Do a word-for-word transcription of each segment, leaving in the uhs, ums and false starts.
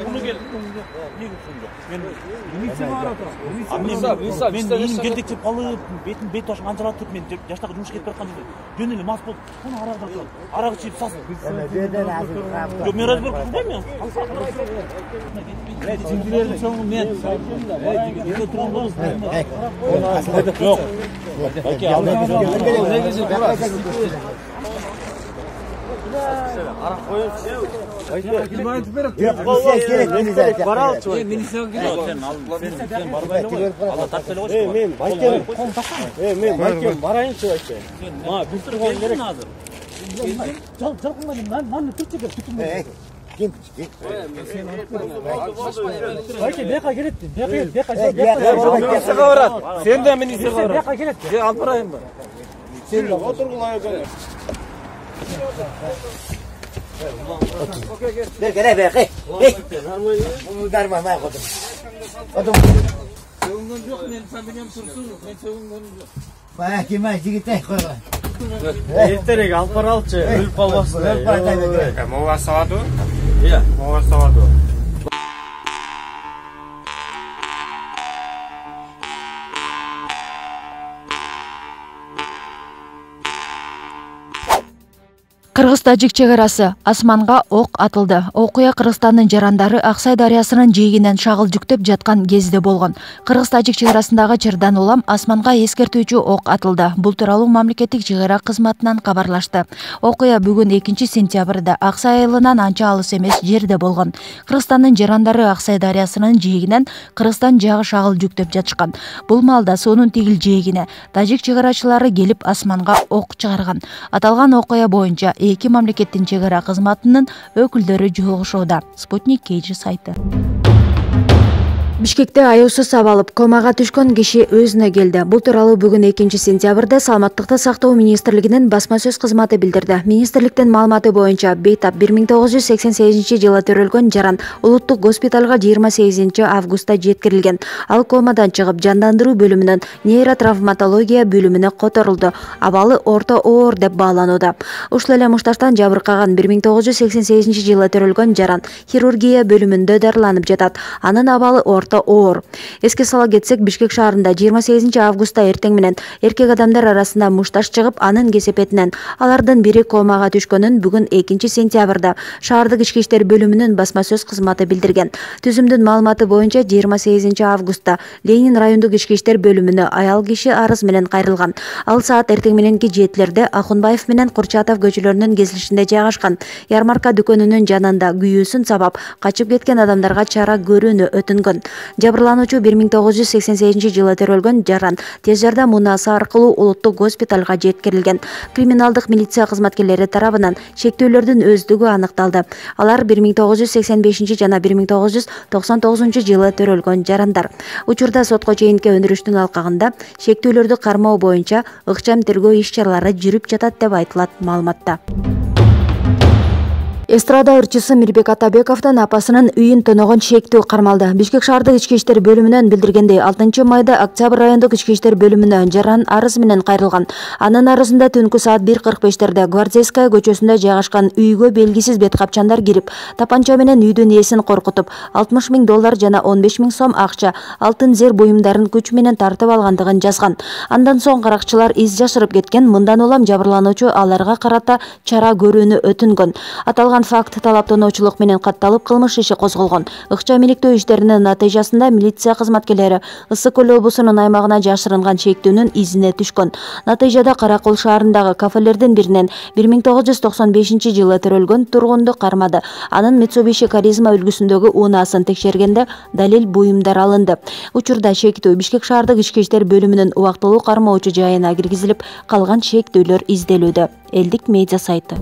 Onu gel. Niye götürüyor? Ben milisiya var ata. Milisiya, milisiya. Ben inim gelдикçe алып, бетин бет башын анжыратып, мен жаштагы жумуш кетип бараткан жерде. Жөн эле мас болуп, куну арак тартып, арак ичип сасып. Жок, мен разбор кылбайм мен. Сиңдилердин соңу мен. Үйдө турган болуп. Жок. Оке, арак коюп. Aytib berip. Milisiya kerak, milisiya. Baralçı. Milisiya kerak. Sen al, sen sen barbayla. Allah tartып эле коюш. Мен майкем. Э, мен майкем барайынчы айчы. Ма, бир турган керек азыр. Жал, жалкынмадым. Маны түрчү кеп күтүм. Э, кем күтү? Айчы, бияка келет. Бияка, бияка, бияка. Milisiyaга барат. Сен да milisiyaга барат. Бияка келет. Же алып барайынбы? Сен да отургула экен. Gel gel be gel. Bunu darma ma kodum. Kodum. Söğünden yok men sen benim tursun. Men söğünden yok. Bana kime jigite koyma. Erterek alparalçı ölüp kalmasın. Ölüp kalmasın. Mova savadu? Iya, mova savadu. Кыргыз-тажик чек арасы асманга ок атылды. Окуя Кыргызстандын жарандары Аксай дарыясынын жээгинен шагыл жүктөп жаткан кезде болгон. Кыргыз-тажик чек арасындагы Чырдан улам асманга эскертүүчү ок атылды. Бул тууралуу мамлекеттик чек ара кызматынан кабарлашты. Окуя бүгүн экинчи сентябрда Аксай айылынан анча алыс эмес жерде болгон. Кыргызстандын жарандары Аксай дарыясынын жээгинен Кыргызстан жагы шагыл жүктөп жатышкан. Бул маалда суунун тигил жээгине тажик чек арачылары келип асманга ок чыгарган. Аталган окуя боюнча эки мамлекеттин чек ара кызматынын өкүлдөрү жолугушууда. Спутник Кейжи сайты. Бишкекте аюусуз абалып комага түшкөн киши өзүнө келди. Бул тууралуу бүгүн экинчи сентябрда Саламаттыкты сактоо министрлигинин басма сөз кызматы билдирди. Министрликтин маалыматы боюнча бейтап бир миң тогуз жүз сексен сегизинчи жылы төрөлгөн жаран улуттук госпиталга жыйырма сегизинчи августта жеткирилген. Ал комадан чыгып жандандыруу бөлүмүнөн нейротравматология бөлүмүнө которулду. Абалы орто оор деп бааланууда. Ушул эле мушташтан жабыркаган бир миң тогуз жүз сексен сегизинчи жылы төрөлгөн жаран хирургия бөлүмүндө дарыланып жатат. Анын абалы орто оор. Эске сала кетсек, Бишкек шаарында жыйырма сегизинчи августта эртең менен эркек адамдар арасында мушташ чыгып, анын кесепетинен алардын бири комага түшкөнүн бүгүн экинчи сентябрда шаардык ички иштер бөлүмүнүн басма сөз кызматы билдирген. Түзүмдүн маалыматы боюнча жыйырма сегизинчи августта Ленин райондук ички иштер бөлүмүнө аял киши арыз менен кайрылган. Ал саат эртең мененки жетилерде Акунбаев менен Курчатов көчөлөрүнүн кесилишинде жайгашкан ярмарка дүкөнүнүн жанында күйүүсүн сабап качып кеткен адамдарга чара көрүүнү өтүнгөн. Жабырлануучу бир миң тогуз жүз сексен сегизинчи жылы төрөлгөн жаран тез жардам унаасы аркылуу улуттук госпиталга жеткирилген. Криминалдык милиция кызматкерлери тарабынан шектүүлөрдүн өздүгү аныкталды. Алар бир миң тогуз жүз сексен бешинчи жана бир миң тогуз жүз токсон тогузунчу жылы төрөлгөн жарандар. Учурда сотко чейинки өндүрүштүн алкагында шектүүлөрдү кармоо боюнча ыкчам тергөө иш-чаралары жүрүп жатат деп айтылат маалыматта. Эстрада ырчысы Мирбек Атабековдун апасынын үйүн тоногон шектүү кармалды. Бишкек шаардык ички иштер бөлүмүнөн билдиргендей, алтынчы майда Октябрь райондук ички иштер бөлүмүнө жаран арыз менен кайрылган. Анын арызында түнкү саат бир кырк бештерде Гвардейская көчөсүндө жайгашкан үйгө белгисиз бет капчандар кирип, тапанча менен үйдүн ээсин коркутуп, алтымыш миң доллар жана он беш миң сом акча, алтын зер буюмдарын күч менен тартып алгандыгын жазган. Андан соң каракчылар из жашырып кеткен. Мындан улам жабырлануучу аларга карата чара көрүүнү өтүнгөн. Аталган факт талаптоочулук менен катталып кылмыш иши козголгон. Ыкчам иликтөө иштеринин натыйжасында милиция кызматкерлери Ысык көл облусунун аймагына жашырынган шектүүнүн изине түшкөн. Натыйжада Каракол шаарындагы кафелердин биринен бир миң тогуз жүз токсон бешинчи жылы төрөлгөн тургунду кармады. Анын Mitsubishi Каризма үлгүсүндөгү унаасын текшергенде далил буюмдар алынды. Учурда шектүү Бишкек шаардык ички иштер бөлүмүнүн убактылуу кармоочу жайына киргизилип, калган шектүүлөр изделүүдө. Элдик медиа сайты.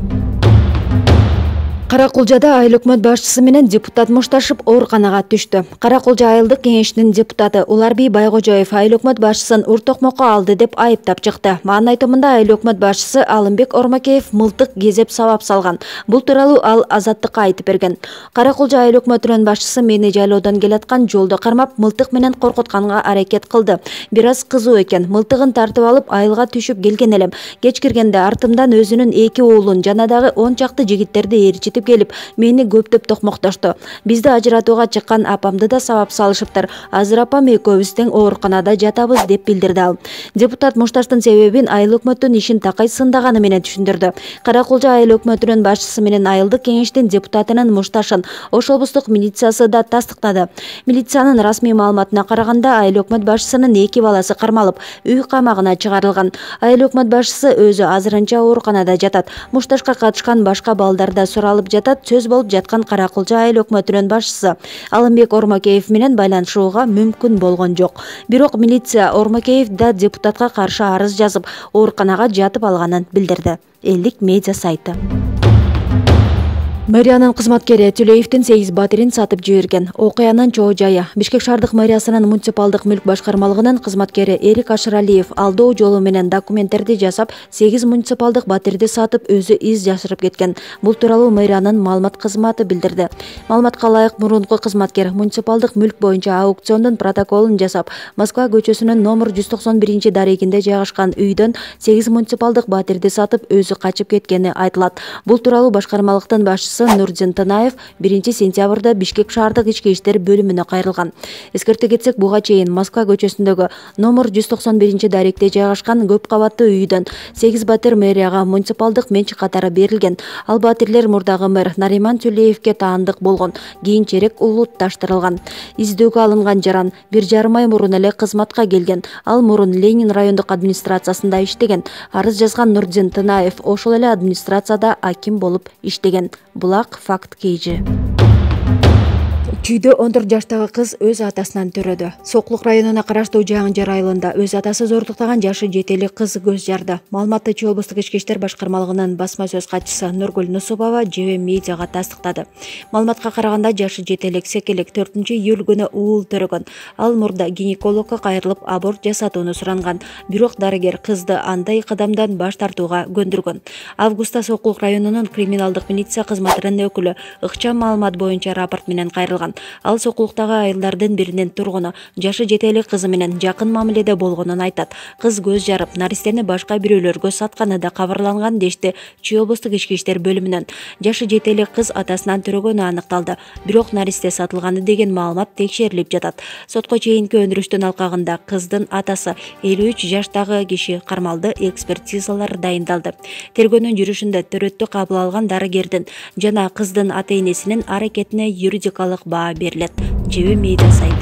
Каракулжада айыл өкмөт башчысы менен депутат мушташып ооруканага түштү. Каракулжа айылдык кеңешинин депутаты Уларбий Байгожоев айыл өкмөт башчысын ур токмокко алды деп айыптап чыкты. Анын айтымында айыл өкмөт башчысы Алымбек Ормакеев мылтык кезеп сабап салган. Бул тууралуу ал Азаттыкка айтып берген. Каракулжа айыл өкмөтүнүн башчысы мени жайлоодон келаткан жолдо кармап, мылтык менен коркутканга аракет кылды. Бир аз кызуу экен. Мылтыгын тартып алып айылга түшүп келген элем. Кеч киргенде артымдан өзүнүн эки уулун жана дагы он чакты жигиттерди ээрчитип айтып келип, мени көптөп токмоктошту. Бизди ажыратууга чыккан апамды да сабап салышыптыр. Азыр апам экөөбүз тең ооруканада жатабыз деп билдирди ал. Депутат мушташтын себебин айыл өкмөттүн ишин такай сындаганы менен түшүндүрдү. Каракулча айыл өкмөтүнүн башчысы менен айылдык кеңештин депутатынын мушташын Ош облустук милициясы да тастыктады. Милициянын расмий маалыматына караганда, айыл өкмөт башчысынын эки баласы кармалып, үй камагына чыгарылган. Айыл өкмөт башчысы өзү азырынча ооруканада жатат. Мушташка катышкан башка балдар да суралып жатат. Сөз болуп жаткан Каракулча айыл өкмөтүнүн башчысы Алымбек Ормакеев менен байланышууга мүмкүн болгон жок. Бирок милиция Ормакеев да депутатка каршы арыз жазып, ооруканага жатып алганын билдирди. Элдик медиа сайты. Мэриянын кызматкери Түлеевдин сегиз батирин сатып жиберген. Окуянын чоо жайы. Бишкек шаардык мэриясынын муниципалдык мүлк башкармалыгынын кызматкери Эрик Ашыралиев алдоо жолу менен документтерди жасап, сегиз муниципалдык батирди сатып, өзү из жашырып кеткен. Бул тууралуу мэриянын маалымат кызматы билдирди. Маалыматка ылайык, мурунку кызматкер муниципалдык мүлк боюнча аукциондун протоколун жасап, Москва көчөсүнүн номер жүз токсон биринчи дарегинде жайгашкан үйдөн сегиз муниципалдык батирди сатып, өзү качып кеткени айтылат. Бул тууралуу башкармалыктын башчысы Нурдин Танаев биринчи сентябрда Бишкек шаардык ички иштер бөлүмүнө кайрылган. Эскерте кетсек, буга чейин Москва көчөсүндөгү номер жүз токсон биринчи даректе жайгашкан көп кабаттуу үйдөн сегиз батир мэрияга муниципалдык менчик катары берилген. Ал батирлер мурдагы мэр Нариман Түлеевке таандык болгон. Кийинчерээк улутташтырылган. Издөөгө алынган жаран бир жарым ай мурун эле кызматка келген. Ал мурун Ленин райондук администрациясында иштеген. Арыз жазган Нурдин Танаев ошол эле администрацияда аким болуп иштеген. Булак факт кейжи. Чүйдө он төрт жаштагы кыз өз атасынан төрөдү. Соклук районуна караштуу Жаңжар айылында өз атасы зордуктаган жашы жетелик кыз көз жарды. Маалыматты Чүй облустук ички иштер башкармалыгынын басма сөз катчысы Нургүл Нусубова Жебе медиага тастыктады. Маалыматка караганда, жашы жетелик секелек төртүнчү июль күнү уул төрөгөн. Ал мурда гинекологко кайрылып аборт жасатууну суранган. Бирок дарыгер кызды андай кадамдан баш тартууга көндүргөн. Августта Соклук районунун криминалдык милиция кызматынын өкүлү ыкчам маалымат боюнча рапорт менен кайрылган. Ал Соклуктагы айылдардын биринин тургуну, жашы жетелик кызы менен жакын мамиледе болгонун айтат. Кыз көз жарып, наристени башка бирөөлөргө сатканы да кабарланган дешти Чүй облустук ички иштер бөлүмүнөн. Жашы жетелик кыз атасынан төрөгөнү аныкталды. Бирок наристе сатылганы деген маалымат текшерилип жатат. Сотко чейинки өндүрүштүн алкагында кыздын атасы элүү үч жаштагы киши кармалды, экспертизалар дайындалды. Тергөөнүн жүрүшүндө төрөттү кабыл алган дарыгердин жана кыздын ата-энесинин аракетине юридикалык баа берилет. Жебе медиа сайты.